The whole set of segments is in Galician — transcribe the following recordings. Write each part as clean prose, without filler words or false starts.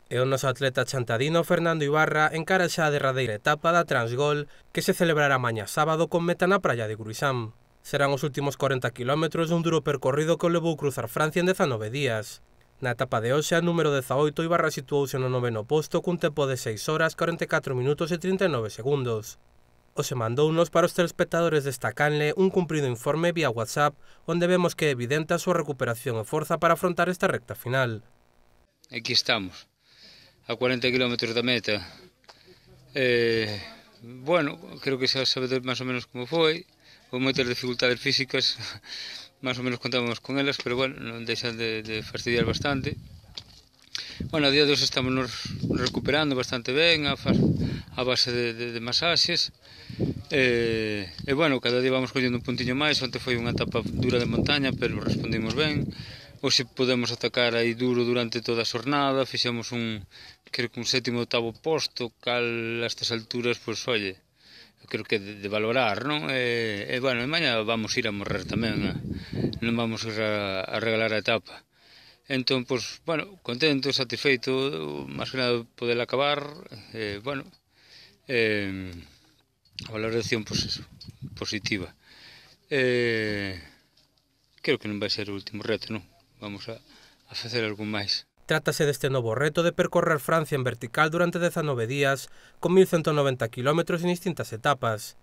E o noso atleta chantadino Fernando Ibarra encara xa a derradeira etapa da Transgol que se celebrará mañá sábado con meta na praia de Gruisán. Serán os últimos 40 km dun duro percorrido que o levou cruzar Francia en 19 días. Na etapa de hoxe, a número 18, Ibarra situouse no noveno posto cun tempo de 6 horas, 44 minutos e 39 segundos. Hoxe mandounos para os telespectadores desta canle un cumprido informe vía WhatsApp onde vemos que é evidente a súa recuperación e forza para afrontar esta recta final. Aquí estamos, a 40 km da meta. Bueno, creo que xa sabedes máis ou menos como foi. Con moitas dificultades físicas, máis ou menos contábamos con elas, pero bueno, non deixan de fastidiar bastante. Bueno, a día de hoxe estamos nos recuperando bastante ben a base de masaxes. Bueno, cada día vamos collendo un puntiño máis. Onte foi unha etapa dura de montaña, pero respondimos ben. Hoxe podemos atacar aí duro durante toda a xornada. Fixemos creo que un sétimo ou octavo posto, cal a estas alturas, pois, oye, creo que de valorar, non? Bueno, e mañá vamos ir a morrer tamén, non vamos ir a regalar a etapa. Entón, pois, bueno, contento, satisfeito, máis que nada poder acabar, bueno, a valoración, pois, eso, positiva. Creo que non vai ser o último reto, non? Vamos a facer algún máis. Trátase deste novo reto de percorrer Francia en vertical durante 19 días, con 1190 km en distintas etapas.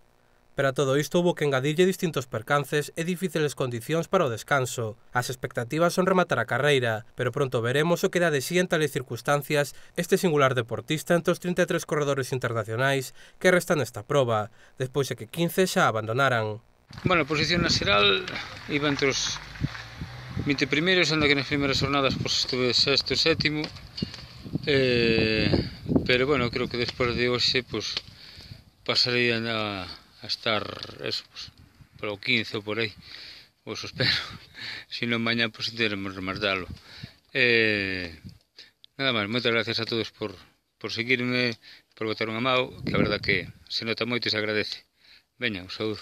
Pero a todo isto houbo que engadirlle distintos percances e difíciles condicións para o descanso. As expectativas son rematar a carreira, pero pronto veremos o que dá de si en tales circunstancias este singular deportista entre os 33 corredores internacionais que restan nesta proba, despois de que 15 xa abandonaran. Bueno, a posición na xeral iba entre os 20 primeiros, anda que nas primeiras jornadas pois, estuve sexto e sétimo, pero bueno, creo que despois de hoxe pois, pasaría a estar eso, pues, polo 15 ou por aí, pois espero. Se non mañá, pois teremos rematalo. Nada máis, moitas gracias a todos por seguirme, por botar unha mão, que a verdad que se nota moito e se agradece. Veña, un saúdo.